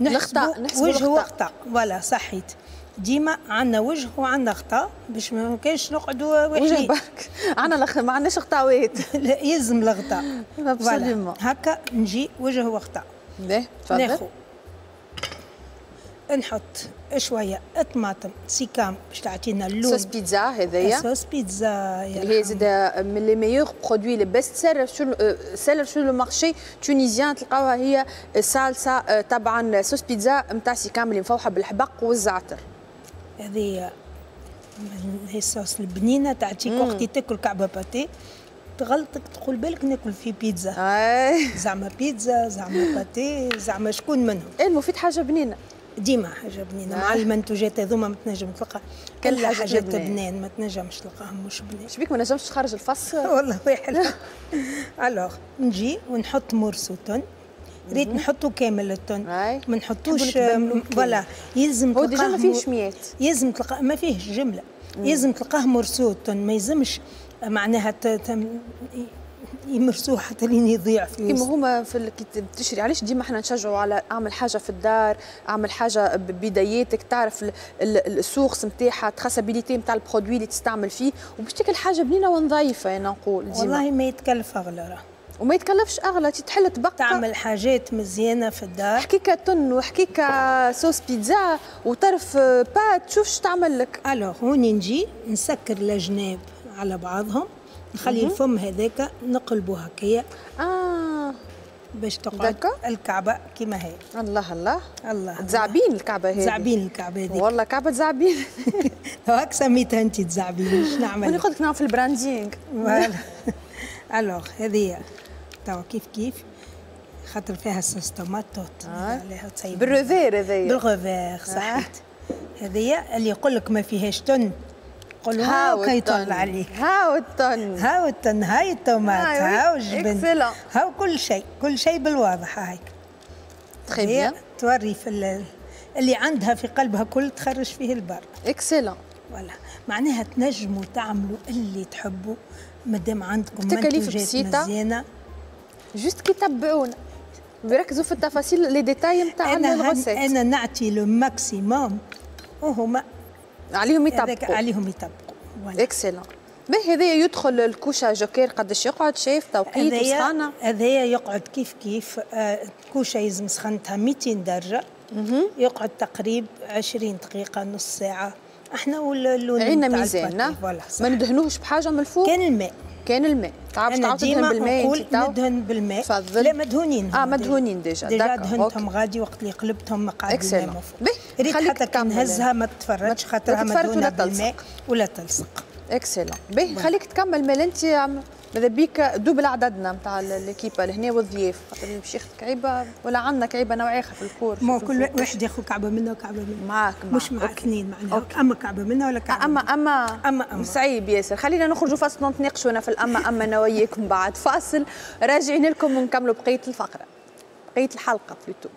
نحسبوا وجه وغطاء. voilà صحيت. ديما عندنا وجه وعندنا غطاء باش ما كانش نقعدوا وجه برك. عندنا ما عندناش غطاوات. لا يلزم الغطاء. voilà هكا نجي وجه وغطاء. باهي تفضل. ناخذ نحط شوية طماطم سيكام باش تعطينا اللون. صوص بيتزا هذايا. صوص بيتزا اللي هي زاده من les meilleurs produits les best-sellers sur le marché tunisien، تلقاوها هي الصالصه طبعا صوص بيتزا نتاع سيكام اللي مفوحه بالحبق والزعتر. هذه هي الصوص البنينه تعطيك وقت تاكل كعبه pâté تغلطك تقول بالك ناكل في بيتزا. زعما بيتزا زعما pâté زعما شكون منهم. المفيد حاجة بنينه. ديما حاجة بنينه مع المنتوجات هذوما ما تنجم تلقى كل حاجات بنان، ما تنجمش تلقاهم مش بنان. شبيك ما نجمش تخرج الفص؟ والله واحد. alors نجي ونحط morceau thon. ريت نحطو كامل ال thon، ما نحطوش. voilà يلزم تلقاه. هو déjà ما فيهش ميات. يلزم تلقاه ما فيهش جملة. يلزم تلقاه morceau thon، ما يلزمش معناها يمرسوه حتى لين يضيع في كيما هما في كي تشري. علاش ديما احنا نشجعوا على اعمل حاجة في الدار، اعمل حاجة ببداياتك، تعرف ال source نتاعها، traçabilité نتاع ال produit اللي تستعمل فيه، وباش تاكل حاجة بنينه ونظيفه. انا نقول ديما والله ما يتكلف اغلى راه. وما يتكلفش اغلى، تحل تبقى تعمل حاجات مزيانه في الدار. حكيكه thon وحكيكه صوص بيتزا وطرف pâte، شوف شو تعمل لك. alors هوني نجي نسكر الجناب على بعضهم، نخلي الفم هذاك نقلبه هكايا باش تقعد الكعبة كما هي. الله الله الله. تزعبين الكعبة هذه. تزعبين الكعبة هذيك. والله كعبه تزعبين. هاك سميتها انت تزعبين، اش نعمل؟ انا قلت لك نعمل في ال branding. voilà. alors هذه توا كيف كيف خاطر فيها sauce tomate عليها تصيب بال revers هذايا. بال revers صحيت. هذه اللي يقول لك ما فيهاش thon قول هاو كيطلع عليك. هاو ال thon، هاو ال thon، هاي الطوماط، هاو الجبن، هاو كل شيء، كل شيء بالواضح هايك. très bien. توري في اللي عندها في قلبها كل تخرج فيه البر. excellent. voilà معناها تنجموا تعملوا اللي تحبوا مادام عندكم تكاليف منتوجات مزيانه. juste كي تبعونا ويركزوا في التفاصيل les détails نتاع ال recette. انا نعطي le maximum وهما عليهم يطبقوا. عليهم يطبقوا. excellent. باهي هذايا يدخل الكوشة جوكير قداش يقعد شايف توقيت وسخانه؟ هذايا يقعد كيف كيف. الكوشة يلزم سخنتها 200 درجه. يقعد تقريب 20 دقيقة نص ساعة. احنا واللون عندنا ميزان ما ندهنوهش بحاجة من الفوق. كان الماء. كان الماء. تعرف تعاود تدهن بالماء انت؟ ندهن بالماء. تفضل. لا مدهونين. مدهونين déjà. déjà دهنتهم غادي وقت اللي قلبتهم قعدوا الماء من فوق. ريت حتى كي نهزها ما تفرجش خاطرها مدهونه بالماء ولا تلصق. excellent. باهي خليك تكمل مال انت ماذا بيك double عددنا نتاع l'équipe لهنا والضياف، خاطر باش ياخذ كعيبه ولا عندنا كعيبه نوع اخر في ال four. ما كل واحد ياخذ كعبه منا وكعبه منا. معاك مش مع اثنين معناها، اما كعبه منا ولا كعبه اما اما اما صعيب ياسر. خلينا نخرجوا فاصل نتناقشوا في الاما اما انا وياكم بعد فاصل، راجعين لكم ونكملوا بقية الفقرة، بقية الحلقة plutôt.